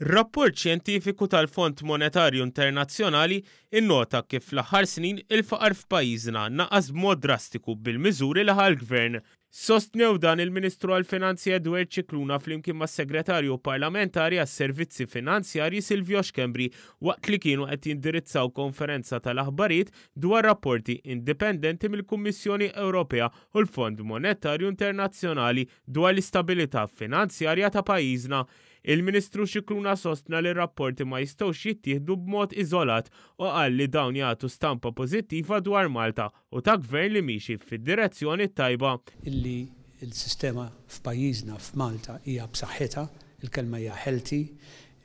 Rapport xjentifiku tal-Fond Monetarju Internazzjonali nnota kif fl-aħħar snin il-faqar f'pajjiżna naqas b'mod drastiku bil-miżuri li ħa l-Gvern. Sostnew dan il-Ministru għall-Finanzi Edward Scicluna flimkien mas-Segretarju Parlamentari għas-Servizzi Finanzjarji Silvio Schembri waqt li kienu qed jindirizzaw konferenza tal-aħbarijiet dwar rapporti indipendenti mill-Kummissjoni Ewropea u l-Fond Monetarju Internazzjonali dwar l-istabilità finanzjarja ta' pajjiżna. Il-Ministru Scicluna sostna li r-rapporti ma jistgħux jittieħdu b'mod iżolat u qal li dawn jagħtu stampa pożittiva dwar Malta u ta' Gvern li miexi fid-direzzjoni t-tajba. Illi l-sistema f'pajjiżna, f'Malta, hija b'saħħitha, il-kelma hija healthy,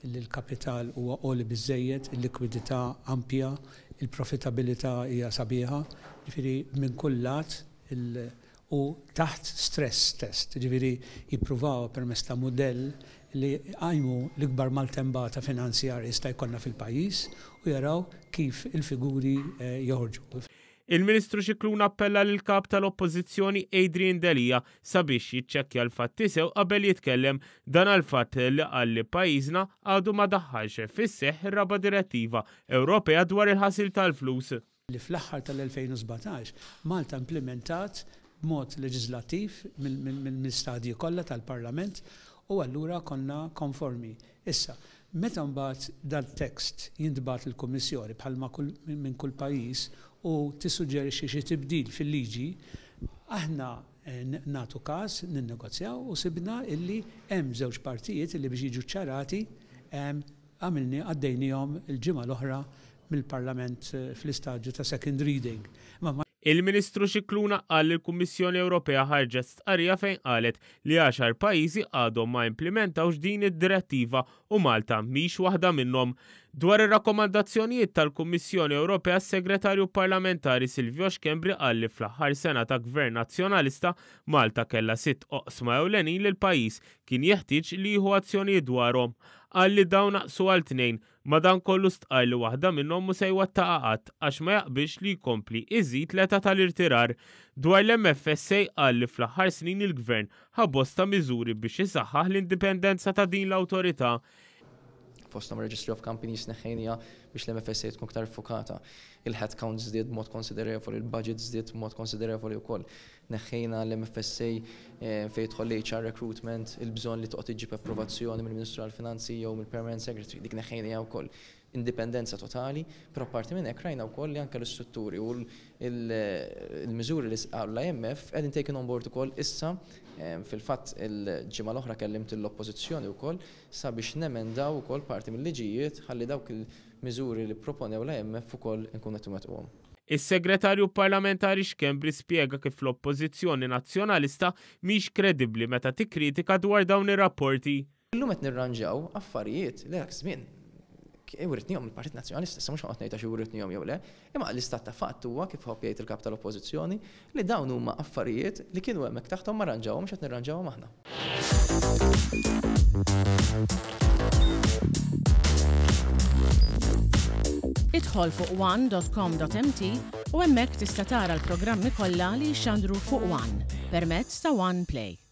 illi l-kapital huwa għoli biżżejjed, il-likwidità ampja, il-profitabilità hija sabiħa, jiġifieri minn kull lat il u taħt stress test, jiġifieri jippruvawha permezz ta' mudell li jqajmu l-ikbar maltembata finanzjarja jista' jkollna fil-pajjiż u jaraw kif il-figuri joħorġu. Il-Ministru Scicluna appella lill-Kap tal-Oppożizzjoni Adrian Delia sabiex jiċċekkja l-fatti sew qabel jitkellem, dan għall-fatt li qal li pajjiżna għadu ma daħħalx fis-seħħ ir-raba' direttiva Ewropea dwar il-ħasil tal-flus. Li fl-aħħar tal-2017 Malta implimentat b'mod leġiżlattiv mill-istadji kollha tal-Parlament u allura konna konformi. Issa, meta mbagħad dal-tekst jintbagħat lill-Kummissjoni bħalma kull minn kull pajjiż u tissuġġerixxi xi tibdil fil-liġi, aħna nagħtu każ, ninnegozjaw u sibna illi hemm żewġ partijiet illi biex jiġu ċċarati Għamilni, għaddejniehom il-ġimgħa l-oħra mill-Parlament fl-istadju ta' second reading. Imma ma. Il-Ministru Scicluna qal li l-Kummissjoni Ewropea ħarġet stqarrija fejn qalet li għaxar pajjiżi għadhom ma implimentawx din id-direttiva u Malta mhix waħda minnhom. Dwar ir-rakkomandazzjonijiet tal-Kummissjoni Ewropea s-Segretarju Parlamentari Silvio Schembri qal li fl-aħħar sena ta' Gvern Nazzjonalista Malta kellha sitt oqsma ewlenin li l-pajjiż kien jeħtieġ li jieħu azzjonijiet dwarhom. Qal li dawn naqsu għal tnejn, madankollu stqarr li waħda minnhom mhu se jwettaqha qatt għax ma jaqbilx li jkompli iżid l-età tal-irtirar. Dwar l-MFSA qal li fl-aħħar snin il-Gvern ħa bosta miżuri biex isaħħaħ l-indipendenza ta' din l-awtorità. Fosthom Registry of Companies neħħejniha biex l-MFSA tkun iktar iffukata. Il-headcount żdied b'mod konsiderevoli, il-budget żdied b'mod konsiderevoli wkoll. Neħħejna l-MFSA fejn jidħol l-HR recruitment, il-bżonn li toqgħod iġġib approvazzjoni mill-Ministru għall-Finanzi jew mill-Permanent Secretary, dik neħħejniha wkoll. Indipendenza totali, però apparti minn hekk rajna wkoll li anke l-istrutturi u l-miżuri li qalu l-IMF qegħdin taken on board ukoll issa. Fil-fatt il-ġimgħa l-oħra kellimt lill-Oppożizzjoni wkoll sabiex nemendaw ukoll parti mill-liġijiet ħalli dawk il-miżuri li pproponew l-IMF ukoll inkunu qed inwettquhom. Is-Segretarju Parlamentari Schembri spjega kif l-Oppożizzjoni Nazzjonalista mhix kredibbli meta tikkritika dwar dawn ir-rapporti. Illum qed nirranġaw affarijiet li dak iż-żmien writnihom il-Partit Nazzjonalista, issa mhux ħa noqgħod ngħid għax writnihom jew le, imma l-istat ta' fatt huwa, kif iħobb jgħid il-Kap tal-Oppożizzjoni, li dawn huma affarijiet li kienu hemmhekk taħthom ma rranġawhomx qed nirranġawhom aħna. Idħol fuq one.com.mt u hemmhekk tista' tara l-programmi kollha li jixxandru fuq One permezz ta' One Play.